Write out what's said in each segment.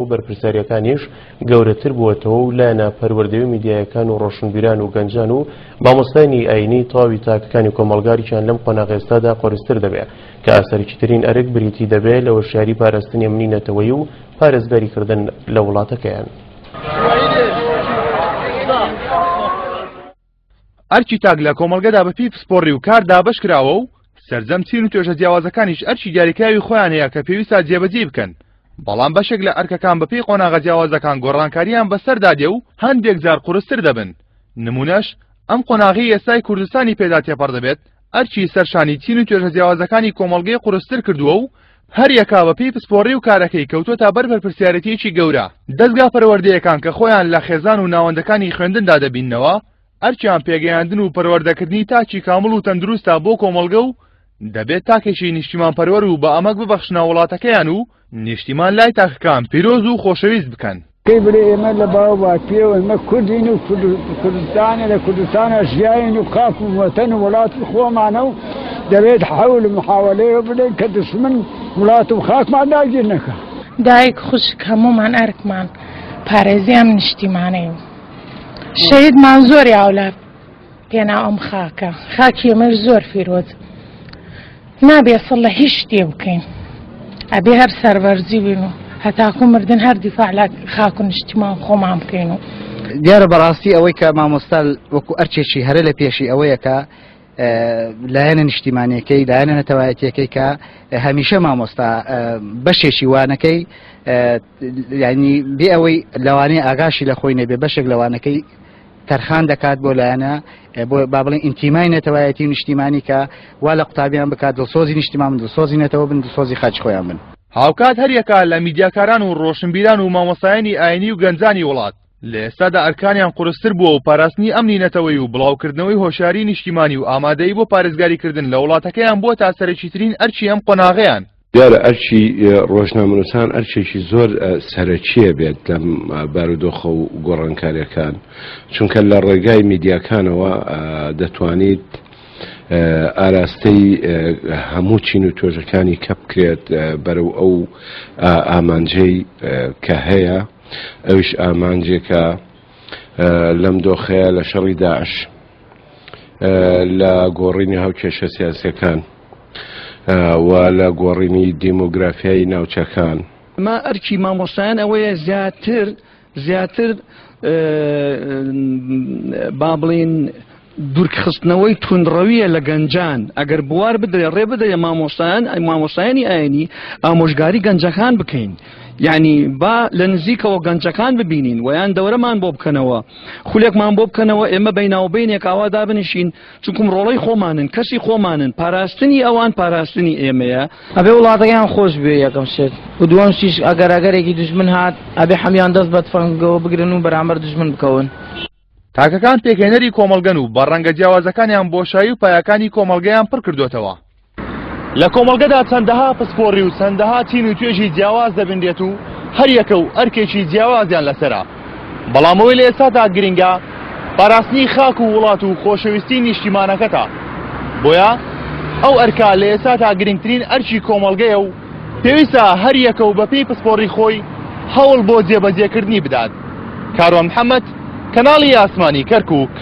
و بەرپرسیارییەکانیش گەورەتر بووەتەوە و لایەنە پەروەردەیی و میدیایەکان و ڕۆشنبیران و گەنجان و مامۆستایانی ئایینی تەواوی تاکەکانی کۆمەڵگا ئەرکیان لەم قۆناغە ئێستادا قورستر دەبێ کە سەرەکیترین ئەرک بریتی دەبێ لە هۆشیاری پاراستنی ئەمنی نەتەوەیی و پارێزگاری کردن لە وڵاتەکەیان. ئەرکی تاک لە کۆمەڵگەدا بەپێی پسپۆڕی و کار دابەش کراوە و سەرجەم چین و توێژە جیاوازەکانیش ئەرکی دیاریکراوی خۆیان هەیە کە پێویستە جێبەجێی بکەن، بەڵام بەشێک لە ئەرکەکان بەپێی قۆناغە جیاوازەکان گۆڕانکارییان بەسەردا دێ و هەندێک جار قورستر دەبن، نمونەش ئەم قۆناغەی ئێستای کوردستانی پێدا تێپەڕ دەبێت ئەرکی سەر شانی چین و توێژە جیاوازەکانی کۆمەڵگەی قورستر کردووە و هەریەکە بە پێی پسپۆڕی و کارەکەی کەوتووەتە بەر بەرپرسیارێتییەکی گەورە. دەزگا پەروەردەیەکان کە خۆیان لە خێزان و ناوەندەکانی خوێندندا دەبیننەوە، ئەرکیان پێگەیاندن و پەروەردەکردنی تاکی کامڵ و تەندروستە بۆ کۆمەڵگە و دەبێت تاکێکی نیشتیمانپەروەر و بە ئەمەک ببەخشنە وڵاتەکەیان و نیشتیمان لای تاکەکان پیرۆز و خۆشەویست بکەن. کەی بڵێ ئێمە لە باو باپیرەوە ئێمە کوردین و کوردستانە لە کوردستانە ژیاین و خاک و وەتەن و وڵاتی خۆمانە و دەبێت حەول و محاوەلەیە بدەین کە دشمن وڵات و خاکمان داگیر نەکا. دایک خوشک هەموومان ئەرکمان پارێزی ئەم نیشتیمانەین. شەهیدمان زۆر یاو لە پێناو ئەم خاکە خاکی ئێمەش زۆر فیرۆز نابێ سڵ لە هیچ شتێ بکەین ئەبێ هەر سەربەرزی بین و هەتاکو مردن هەر دیفاع لە خاک و نیشتیمان خۆمان بکەین و دیارە بەڕاستی ئەوەی کە مامۆستا وەکو ئەرچێکی هەرە لە پێشی ئەوەیە کە لایەنە نیشتیمانەکەی لایەنە نەتەوایەتیەکەی کە هەمیشە مامۆستا بەشێکی وانەکەی ینی بێ ئەوەی لەوانەیە ئاگاشی لە خۆی نەبێ بەشێک لەوانەکەی تەرخان دەکات بۆ لایەنە بۆ با بڵێن ئینتیمای نەتەوایەتی و نیشتیمانی کە وا لە قوتابیان بکات دڵسۆزی نیشتیمان بن دڵسۆزی نەتەوە بن دڵسۆزی خاکی خۆیان بن. هاوکات هەریەکە لە میدیاکاران و ڕۆشنبیران و مامۆستایانی ئاینی و گەنجانی وڵات لە ئێستادا ئەرکانیان قورستر بووە و پاراستنی ئەمنی نەتەوەیی و بڵاوکردنەوەی هۆشیاری نیشتیمانی و ئامادەیی بۆ پارێزگاریکردن لە وڵاتەکەیان بووەتە سەرەکیترین ئەرکی ئەم قۆناغەیان. دیارە ئەرکی ڕۆژنامەنووسان ئەرکێکی زۆر سەرەکییە بێت لەم بارودۆخە و گۆڕانکارییەکان، چونکە لە ڕێگای میدیاکانەوە دەتوانیت ئاراستەی هەموو چین و توێژەکانی کە بکرێت بەرەو ئەو ئامانجەی کە هەیە، ئەویش ئامانجێکە لەم دۆخەیە لە شەڕی داعش لە گۆڕینی هاوکێشە سیاسیەکان و لە گۆڕینی دیمۆگرافیای ناوچەکان. ئەمە ئەرکی مامۆستایان ئەوەیە زیاتر زیاتر با بڵین دوورخستنەوەی توندڕەویە لە گەنجان ئەگەر بوار بدرێ ڕێ بدرێ مامۆستایان مامۆستایانی ئاینی ئامۆژگاری گەنجەکان بکەین یعنی با لە نزیکەوە گەنجەکان ببینین ویان دەورەمان بۆ بکەنەوە خولێکمان بۆ بکەنەوە ئێمە بیناوبینێک ئاوا دابنیشین چونکم ڕۆڵەی خۆمانن کەسی خۆمانن پاراستنی ئەوان پاراستنی ئێمەیە. ئەبێ وڵاتەکەیان خۆش بوێ یەکەم شت و دووەم شتیش ئەگەر ئەگەرێکی دوژمن هات ئەبێ حەمیان دەست بە تفەنگەوە بگرن و بەرامبەر دوژمن بکەون. تاکەکان پێکهێنەری کۆمەڵگەن و بە ڕەنگە جیاوازەکانیان بۆشایی و پایەکانی کۆمەڵگەیان پڕ کردۆتەوە. لە کۆمەڵگەدا چەندەها پسپۆڕی و چەندەها چین و توێژی جیاواز دەبینرێت و هەریەکە و ئەرکێکی جیاوازیان لەسەرە، بەڵام ئەوەی لە ئێستادا گرنگە پاراستنی خاک و وڵات و خۆشەویستی نیشتیمانەکەتە، بۆیە ئەو ئەرکە لە ئێستادا گرنگترین ئەرکی کۆمەڵگەیە و پێویستە هەریەکە و بەپێی پسپۆڕی خۆی هەوڵ بۆ جێبەجێکردنی بدات. کاروان محەمەد، کەناڵی ئاسمانی کەرکوک.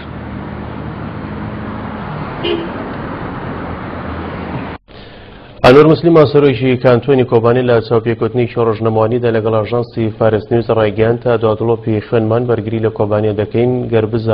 ئەنوەر موسلیمان سەرۆکی کانتۆنی کۆبانی لە چاوپێکەوتنێکی ڕۆژنامەوانیدا لەگەڵ ئاژانسی فارس نیوز ڕایگەیاند تا دوا دڵۆپی خوێنمان بەرگری لە کۆبانیە دەکەین گەر بزانین.